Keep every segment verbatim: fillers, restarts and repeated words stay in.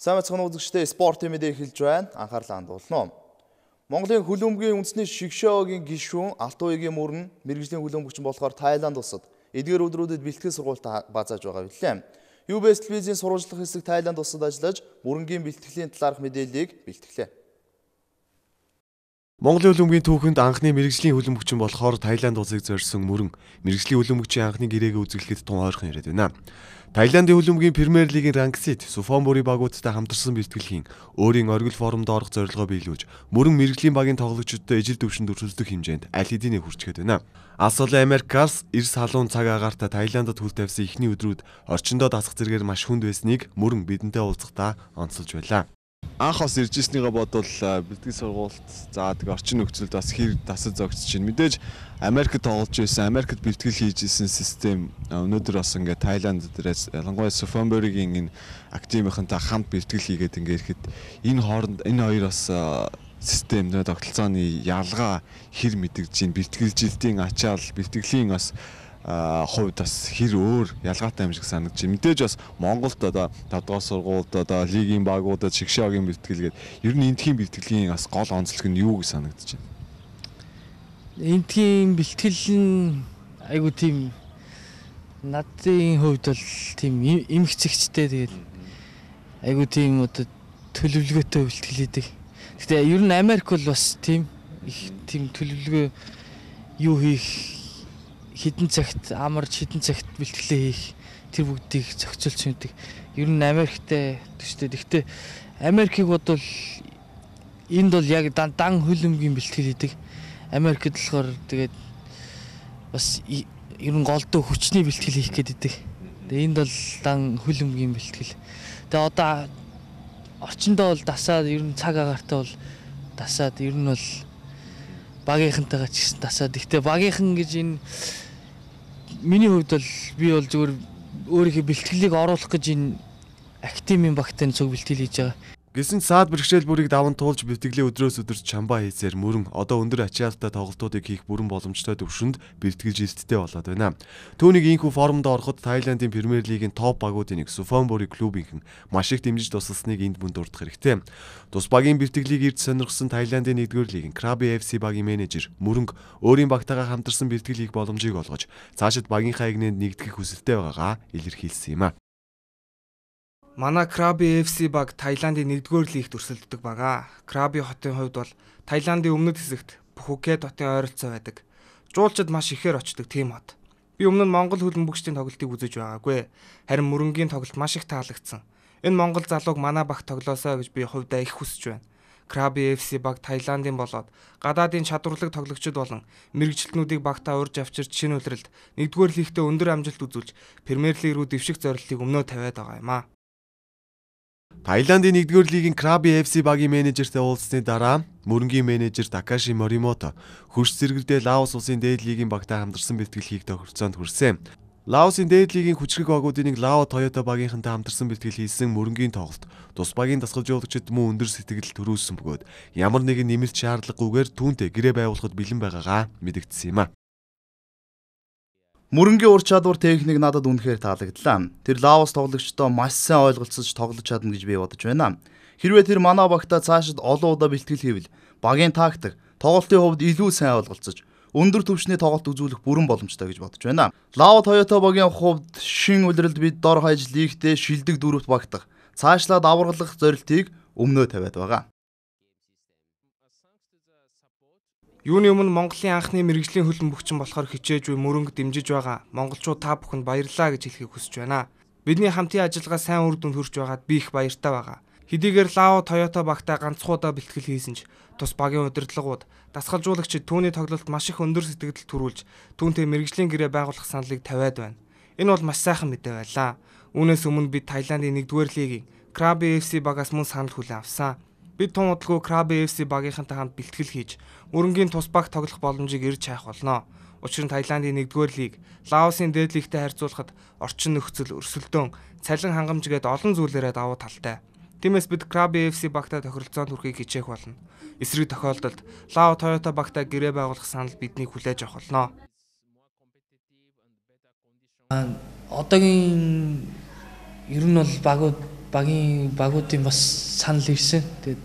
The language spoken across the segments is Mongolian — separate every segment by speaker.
Speaker 1: Сайн мэцхан үзэгчдээ спортын мэдээ эхэлж байна. Анхаарлаа хандуулна. Монголын хөлбөмбөгийн үндэсний шигшөөгийн гишүүн Алтан уягийн мөрөн мэрэгжлийн хөлбөмбөгч болохоор Тайланд улсад эдгээр өдрүүдэд бэлтгэл сургалт баазааж байгаа билээ. ю би эс телевизийн сурвалжлах хэсэг Тайланд улсад ажиллаж мөрөнгийн бэлтгэлийн талаарх мэдээллийг бэлтгэлээ.
Speaker 2: Монголын хөлбөмбөгийн түүхэнд анхны мэрэгжлийн хөлбөмбөгч болохоор Тайланд улсыг зорьсон мөрөн мэрэгжлийн хөлбөмбөгчийн анхны гэрээгээ үзүүлэхэд тун ойрхон яриад байна. Тайландын хөлбөмбөгийн Премьер лигийн Рангсид Суфонбури багуудтай хамтарсан бэлтгэлхийн өөрийн оргил форумд орох зорилгоо биелүүлж мөрөн мэрэгжлийн багийн тоглогчдод ижил төвшөнд өрсөлдөх хэмжээнд аль хэдийн хүрчгээд байна. Алс олон Америкаас эрс халуун цаг агаартай Тайландд хүл тавьсан эхний өдрүүд орчиндөө дасах зэргээр маш хүнд байсныг мөрөн бидэнтэй уулзахдаа онцолж байлаа.
Speaker 3: Анх бас ирж ирснийгээ бодвол бэлтгэл сургалт за тэг орчин нөхцөлд бас хэр дасаж зогсож байна. Мэдээж Америкт тоглож байсан, Америкт бэлтгэл хийж исэн систем өнөөдөр бас ингээ Тайланд дээрээс ялангуяа Суфонбуригийн энэ активынхантай хамт бэлтгэл хийгээд ингээ ирэхэд энэ хооронд энэ хоёр бас систем нэ тогтолцооны ялгаа хэр мэдэгдэж байна. Бэлтгэлжилтийн ачаал, бэлтгэлийн бас хувьд бас хэр өөр ялгаатай юм шиг санагдаж байна. Мэдээж бас Монголд одоо тавд дугаар сургуульд одоо лигийн багуудад шигшөөгийн бэлтгэл гээд ер нь эндхийн бэлтгэлийн бас гол онцлог нь юу гэж санагдаж байна?
Speaker 4: Эндхийн бэлтгэл нь айгу тийм надын хувьд бол тийм эмх зэгчтэй тэгээд айгу тийм одоо төлөвлөгөөтэй бэлтгэл хийдэг. Гэтэ ер нь Америк бол бас тийм их тийм төлөвлөгөө юу хийх хідэн цагт амарч хідэн цагт бэлтгэлээ хийх тэр бүгдийг зохицуулсан байдаг. Ер нь Америктэй төстэй. Гэхдээ Америкийг бодвол энд бол яг дан дан хөлбөмбөгийн бэлтгэл хийдэг. Америкт болохоор тэгээд бас ер нь голдуу хүчний бэлтгэл хийх гэдэг. Тэгээд энд бол дан хөлбөмбөгийн бэлтгэл. Тэгээд одоо орчиндөө бол дасаад ер нь цаг агаартай бол дасаад ер нь бол багийнхантайгаа ч гэсэн дасаад. Гэхдээ багийнхан гэж энэ миний хувьд бол би бол зөвхөн өөрийнхөө бэлтгэлийг оруулах гэж энэ активын багтай цуг бэлтгэл хийж байгаа.
Speaker 2: Гэсэн саад бэрхшээл бүрийг даван туулж бэлтгэлийн өдрөөс өдөрт чамбаа хийсээр мөрөн одоо өндөр ачаалтай тоглолтуудыг хийх бүрэн боломжтой төвшөнд бэлтгэлжилттэй болоод байна. Түүнийг ийхүү форумд ороход Тайландын Премьер лигийн топ багуудын нэг Суфонбури клубийнхэн маш их дэмжиж тусалсныг энд мөн дурдах хэрэгтэй. Тус багийн бэлтгэлийг эрд сонирхсан Тайландын нэгдүгээр лигийн Krabi эф си багийн менежер Мөрөнг өөрийн багтайгаа хамтарсан бэлтгэл хийх боломжийг олгож цаашид багийнхаа игнэнд нэгдэх хүсэлтэй байгаагаа илэрхийлсэн юм а.
Speaker 5: Манай Krabi эф си баг Тайландын нэгдүгээр лигт өрсөлддөг бага. Krabi хотын хувьд бол Тайландын өмнөд хэсэгт Пхукет хотын ойролцоо байдаг. Жуулчид маш ихээр очдог тийм хот. Би өмнө нь Монгол хөлбөмбөгчдийн тоглолтыг үзэж байгаагүй. Харин мөрөнгийн тоглолт маш их таалагдсан. Энэ Монгол залууг манай багт тоглоосоо гэж би хувьдаа их хүсэж байна. Krabi эф си баг Тайландын болоод гадаадын чадварлаг тоглогчид болон мэрэгжилтнүүдийг багтаа урьж авчирч шинэ улиралд нэгдүгээр лигтээ өндөр амжилт үзүүлж Премьер лиг рүү дэвших зорилтыг өмнөө тавиад байгаа юм а.
Speaker 2: Тайландын нэгдүгээр лигийн Krabi эф си багийн менежертэй уулзсны дараа мөрөнгийн менежер Такаши Моримото хөрш зэрэгдээ Лаос улсын дээд лигийн багтай хамтарсан бэлтгэл хийх тохиролцоонд хүрсэн. Лаосын дээд лигийн хүчрэг багуудын нэг Лао Тойота багийнхантай хамтарсан бэлтгэл хийсэн мөрөнгийн тоглолт тус багийн дасгалжуулагчид мөн өндөр сэтгэл төрүүлсэн бөгөөд ямар нэгэн нэмэлт шаардлагагүйгээр түүнтэй гэрээ байгуулахад бэлэн байгаагаа мэдэгдсэн юм а.
Speaker 1: Мөрөнгийн ур чадвар техник надад үнэхээр таалагдлаа. Тэр Лаос тоглогчдоо маш сайн ойлголцож тоглож чадна гэж би бодож байна. Хэрвээ тэр манай багтаа цаашид олон удаа бэлтгэл хийвэл багийн тактик, тоглолтын хувьд илүү сайн ойлголцож өндөр түвшний тоглолт үзүүлэх бүрэн боломжтой гэж бодож байна. Лао Тойота багийн хувьд шин улиралд бид дор хаяж лигтээ шилдэг дөрөвт багтах, цаашлаад авралах зорилтыг өмнөө тавиад байгаа.
Speaker 5: Юуны өмнө Монголын анхны мэрэгжлийн хөлбөмбөгчин болохоор хичээж буй мөрөнг дэмжиж байгаа монголчууд та бүхэнд баярлалаа гэж хэлхийг хүсэж байна. Бидний хамтын ажиллагаа сайн үр дүнд хүрч байгаад би их баяртай байгаа. Хэдийгээр Лао Тойота багтаа ганцхан удаа бэлтгэл хийсэн ч тус багийн удирдлагууд, дасгалжуулагчид түүний тоглолт маш их өндөр сэтгэл төрүүлж түүнтэй мэрэгжлийн гэрээ байгуулах саналыг тавиад байна. Энэ бол маш сайхан мэдээ байлаа. Үүнээс өмнө бид Тайландын нэгдүгээр лигийн Krabi эф си багаас мөн санал хүлээн авсан. Бид тун удалгүй Krabi эф си багийнхантай хамт бэлтгэл хийж мөрөнгийн тус баг тоглох боломжийг ирж хайх болно. Учир нь Тайландын нэгдүгээр лиг Лаосын дээд лигтэй харьцуулахад орчин нөхцөл, өрсөлдөөн, цалин хангамж гээд олон зүйлээрээ давуу талтай. Тиймээс бид Krabi эф си багтай тохиролцоонд хүрэхийг хичээх болно. Эсрэг тохиолдолд Лао Тойота багтай гэрээ байгуулах санал биднийг хүлээж авах болно.
Speaker 4: Одоогийн ер нь бол багууд багийн багуудын бас санал ирсэн. Тэгээд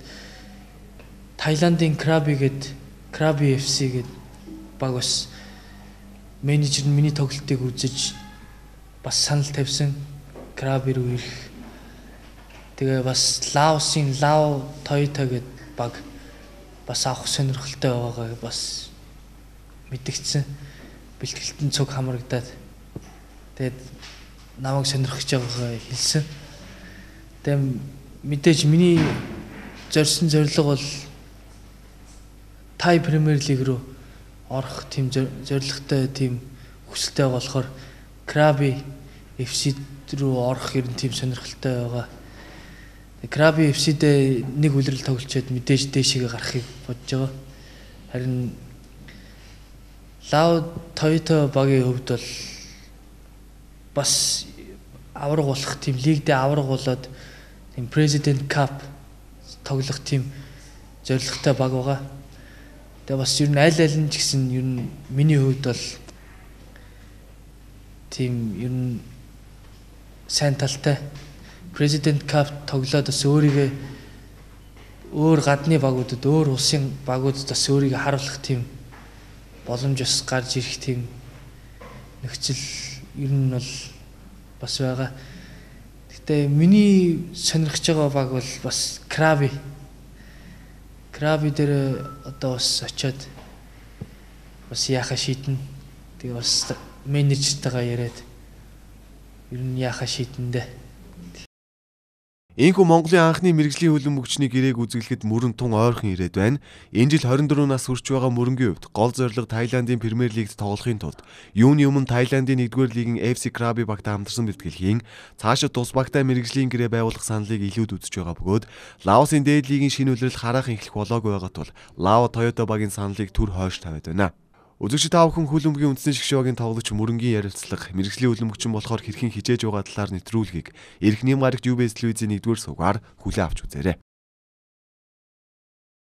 Speaker 4: Таиландын Краби гээд Краби эф си гээд баг бас менежер нь миний тоглолтыг үзэж бас санал тавьсан. Краби руу ирэх. Тэгээ бас Лаосын Лао Toyota гээд баг бас авах сонирхолтой байгаагаа бас мэдгдсэн. Бэлтгэлтэн цуг хамрагдаад тэгээд намайг сонирхож байгаагаа хэлсэн. Тэгээд мэдээж миний зорьсон зорилго бол Тай Премьер Лиг рүү орох тийм зорилготой тийм хүсэлтэй болохоор Краби эф си рүү орох ер нь тийм сонирхолтой байгаа. Краби эф си-д нэг үлрэл тоглолцоод мэдээж дээшээ гарахыг бодож байгаа. Харин Лао Toyota багийн хувьд бол бас авраг болох тийм лигдээ авраг болоод тийм President Cup тоглох тийм зорилготой баг байгаа. Тэгээ бас ер нь аль аль нь ч гэсэн ер нь миний хувьд бол тийм ер нь сайн талтай President Cup тоглоод бас өөрийгөө өөр гадны багуудад өөр улсын багуудад бас өөрийгөө харуулах тийм боломж бас гарч ирэх тийм нөхцөл ер нь бол бас байгаа. Гэхдээ миний сонирхож байгаа баг бол бас Краби. Краби дээр одоо бас очиод бас яхаа шийднэ. Тэгээ бас менежертэйгээ яриад ер нь яхаа шийднэ.
Speaker 2: Энэхүү Монголын анхны мэрэгжлийн хөлбөмбөгчний мөгчний гэрээг үзэглэхэд мөрөн тун ойрхон ирээд байна. Энэ жил хорин дөрвөн нас хүрч байгаа мөрөнгийн хувьд гол зорилго Таиландын Премьер Лигт тоглохын тулд юуны өмнө Таиландын нэгдүгээр лигийн эф си Краби багт хамтарсан бэлтгэлхийн цаашид тус багтай мэрэгжлийн гэрээ байгуулах саналыг илүүд үзэж байгаа бөгөөд Лаосын дээд лигийн шинэ улирал хараахан эхлэх болоогүй байгаа тул Лао Toyota багийн саналыг түр хойш тавиад байна. Үзэгч та бүхэн хөлбөмбөгийн үндэсний шгшөөгийн тоглогч мөрөнгийн ярилцлага мэрэгжлийн хөлбөмбөгчин болохоор хэрхэн хижээж байгаа талаар нэвтрүүлгийг Эрх нэм гарагт ю би эс телевизийн нэгдүгээр сувгаар хүлээн авч үзээрэй.